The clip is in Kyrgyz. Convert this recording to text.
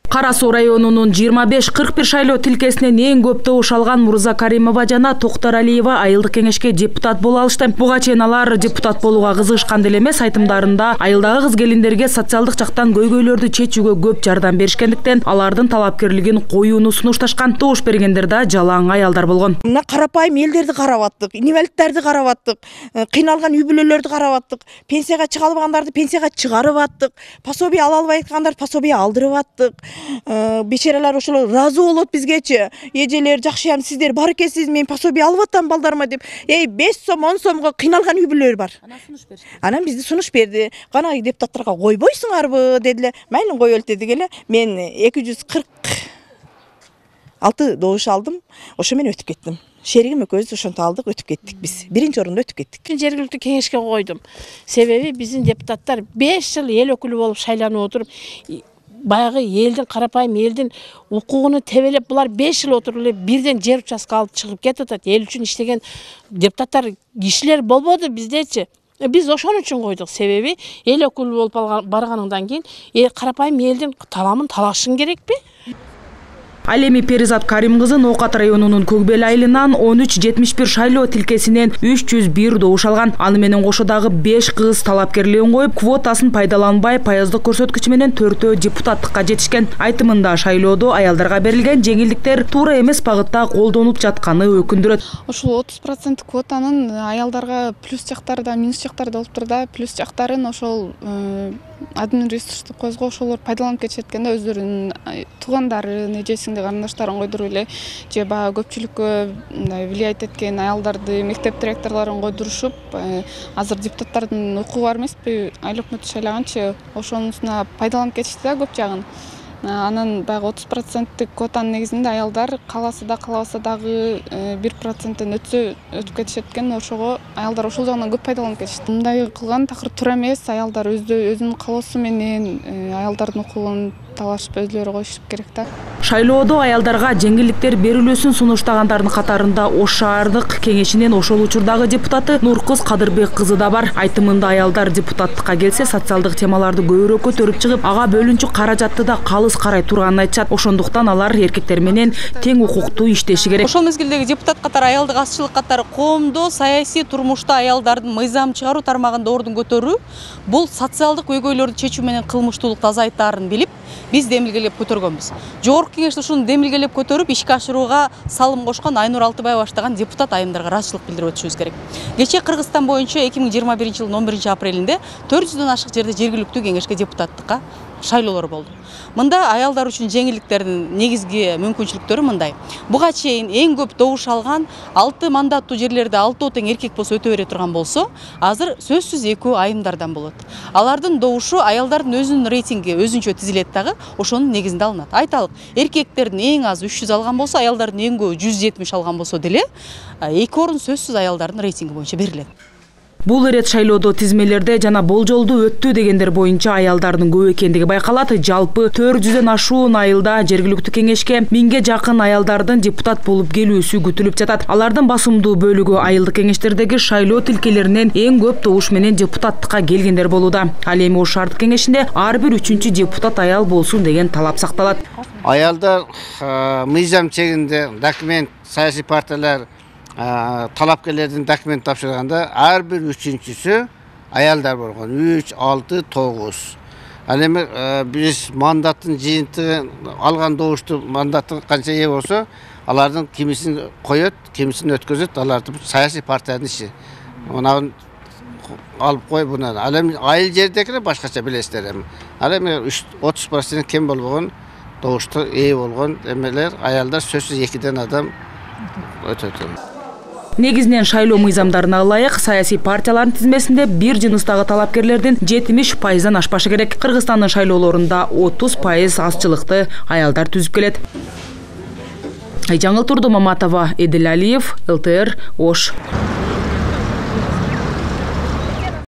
Кара Суу районунун 25-41 шайлоо тилкесинен эң көп добуш алган Мурза Каримова жана Токтор Алиева айылдык кеңешке депутат боло алышты. Буга чейин алар депутат болууга кызыгышкан деле эмес, айтымдарында айылдагы кыз келиндерге социалдык жактан көйгөйлөрдү чечүүгө көп жардам беришкендиктен алардын талапкерлигин коюуну сунушташкан. Добуш бергендер да жалаң аялдар болгон. Мына карапайым элдерди карап аттык, инвалидтерди карап аттык, кыйналган үй бүлөлөрдү карап аттык, пенсияга чыга албагандарды пенсияга чыгарып аттык, пособие ала албай аткандарды пособие алдырып аттык. Бечералар ошол разы болот бизгечи. Эжелер жакшыям, сиздер бар экенсиз, мен пособие алып аттам балдарыма деп. 5 сом, 10 сомго кыйналган үй бүлөлөр бар. Анан бизди сунуш берди. Кана депутаттарга койбойсуңарбы дедиле. Майлы коелу дедик эле. Мен 246 добуш алдым. Ошо мен өтүп кеттим. Шеригим экөөбүз ошонтип алдык, өтүп кеттик биз. Биринчи орунда өтүп кеттик. Жергиликтүү кеңешке койдум. Себеби биздин депутаттар 5 жыл эл өкүлү болуп шайланып отуруп, баягы элдин, карапайым элдин укугуну тебелеп, булар 5 жыл отуруп эле бирден жер участка алып чыгып кетип атат. Эл үчүн иштеген депутаттар, кишилер болбоду биздечи. Биз ошон үчүн койдук. Себеби эл өкүлү болуп барганыңдан кийин карапайым элдин таламын талашың керекпи? Ал эми Перизат Карим кызы Ноокат районунун Көкбел айылынан 13-71 шайлоо тилкесинен 301 добуш алган. Аны менен кошо дагы 5 кыз талапкерлигин коюп, квотасын пайдаланбай паяздык көрсөткүчү менен 4 депутаттыкка жетишкен. Айтымында шайлоодо аялдарга берилген жеңилдиктер туура эмес багытта колдонуп жатканы өкүндүрөт. Ошол 30% квотанын аялдарга плюс жактары да, минус жактары да болуптур да. Плюс жактарын ошол админресурстук көзгө ошолор пайдаланып кетишет экен да, өздөрүнүн туугандарын, эжесиңди, карындаштарын койдуруп эле, же баягы көпчүлүккө влиять эткен аялдарды, мектеп директорлорун койдурушуп, азыр депутаттардын укугу бар эмеспи, айыл өкмөтү шайлаганчы, ошонусуна пайдаланып кетишти да көп жагын. Анан баягы 30% квотанын негизинде аялдар кааласа да каалабаса дагы 1%-тен өтүп кетишет экен. Ошого аялдар ошол жагынан көп пайдаланып кетишти. Мындай кылган такыр туура эмес. Аялдар өзүнүн каалоосу менен аялдардын укугун талашып өзлөрү коюшу керек да. Шайлоодо аялдарга жеңилдиктер берилүүсүн сунуштагандардын катарында Ош шаардык кеңешинин ошол учурдагы депутаты Нуркыз Кадырбек кызы да бар. Айтымында аялдар депутаттыкка келсе, социалдык темаларды көбүрөөк көтөрүп чыгып, ага бөлүнчү каражатты да калыс карай турганын айтышат. Ошондуктан алар эркектер менен тең укуктуу иштеши керек. Ошол мезгилдеги депутат катары, аялдык азчылык катары коомдо саясий турмушта аялдардын мыйзам чыгаруу тармагында ордун көтөрүү, бул социалдык көйгөйлөрдү чечүү менен кылмыштуулукту азайтаарын билип, биз демилгелеп көтөргөнбүз. Жогорку кеңеште ушуну демилгелеп көтөрүп, ишке ашырууга салым кошкон Айнур Алтыбай баштаган депутат айымдарга ыраазычылык билдирип өтүшүбүз керек. Кечээ Кыргызстан боюнча 2021-жылдын 11 апрелинде 400дөн ашык жерде жергиликтүү кеңешке депутаттыкка шайлоолор болду. Мында аялдар үчүн жеңилдиктердин негизги мүмкүнчүлүктөрү мындай. Буга чейин эң көп добуш алган 6 мандаттуу жерлерде 6 тең эркек болсо өтө бере турган болсо, азыр сөзсүз 2 айымдардан болот. Алардын добушу аялдардын өзүнүн рейтинги өзүнчө тизилет дагы, ошонун негизинде алынат. Айталык, эркектердин эң азы 300 алган болсо, аялдардын эң көбү 170 алган болсо деле, 2 орун сөзсүз аялдардын рейтинги боюнча берилет. Бул ирет шайлоодо тизмелерде жана болжолду өттү дегендер боюнча аялдардын көп экендиги байкалат. Жалпы 400дөн ашуун айылда жергиликтүү кеңешке 1000ге жакын аялдардын депутат болуп келүүсү күтүлүп жатат. Алардын басымдуу бөлүгү айылдык кеңештердеги шайлоо тилкелеринен эң көп добуш менен депутаттыкка келгендер болууда. Ал эми Ош шаардык кеңешинде ар бир 3-чү депутат аял болсун деген талап сакталат. Аялдар мыйзам чегинде документ, саясий партиялар талапкерлердин документ тапшырганда ар бир 3-чүсү аялдар болгон. 3, 6, 9. Ал эми биз мандаттын жыйынтыгын алган добушту мандаттын канча ээ болсо, алардын кимисин коёт, кимисин өткөзөт, алардын саясий партиянын иши. Муну алып кой буну. Ал эми айыл жердекилер башкача билесиздер эми. Ал эми 30% кем болгон добушту ээ болгон эмелер аялдар сөзсүз 2ден адам өтөт. Негизинен шайлоо мыйзамдарына ылайык саясий партиялардын тизмесинде бир жыныстагы талапкерлердин 70%-дан ашпашы керек. Кыргызстандын шайлоолорунда 30% азчылыкты аялдар түзүп келет. Жаңыл Турду Маматова, Эдил Алиев, ЛТР, Ош.